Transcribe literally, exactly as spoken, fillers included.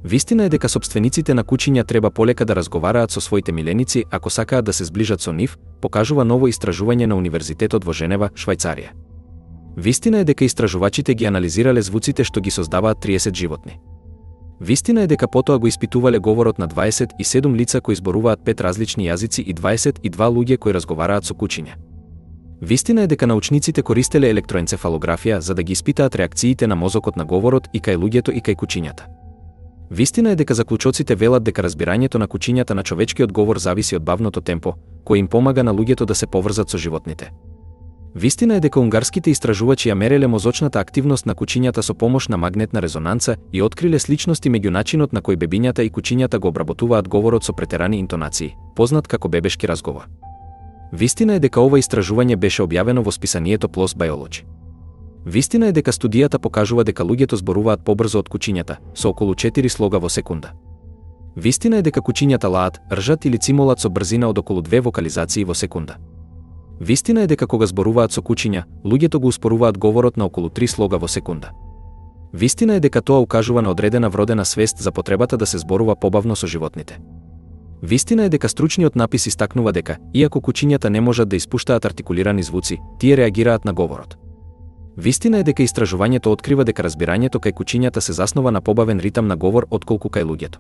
Вистина е дека сопствениците на куќиња треба полека да разговараат со своите миленици ако сакаат да се зближат со нив, покажува ново истражување на Универзитетот во Женева, Швајцарија. Вистина е дека истражувачите ги анализирале звуците што ги создаваат триесет животни. Вистина е дека потоа го испитувале говорот на дваесет и седум лица кои зборуваат пет различни јазици и дваесет и два луѓе кои разговараат со куќиња. Вистина е дека научниците користеле електроенцефалографија за да ги испитаат реакциите на мозокот на говорот и кај луѓето и кај куќињата. Вистина е дека заклучоците велат дека разбирањето на куќињата на човечкиот говор зависи од бавното темпо, кој им помага на луѓето да се поврзат со животните. Вистина е дека унгарските истражувачи ја мереле мозочната активност на куќињата со помош на магнетна резонанца и откриле сличности меѓу начинот на кој бебињата и куќињата го обработуваат говорот со претерани интонации, познат како бебешки разговор. Вистина е дека ова истражување беше објавено во списанието пи ел о ес Biology. Вистина е дека студијата покажува дека луѓето зборуваат побрзо од куќињата, со околу четири слога во секунда. Вистина е дека куќињата лаат, ржат или цимолат со брзина од околу две вокализации во секунда. Вистина е дека кога зборуваат со куќиња, луѓето го успоруваат говорот на околу три слога во секунда. Вистина е дека тоа укажува на одредена вродена свест за потребата да се зборува побавно со животните. Вистина е дека стручниот напис истакнува дека, иако куќињата не можат да испуштаат артикулирани звуци, тие реагираат на говорот. Вистина е дека истражувањето открива дека разбирањето кај куќињата се заснова на побавен ритам на говор отколку кај луѓето.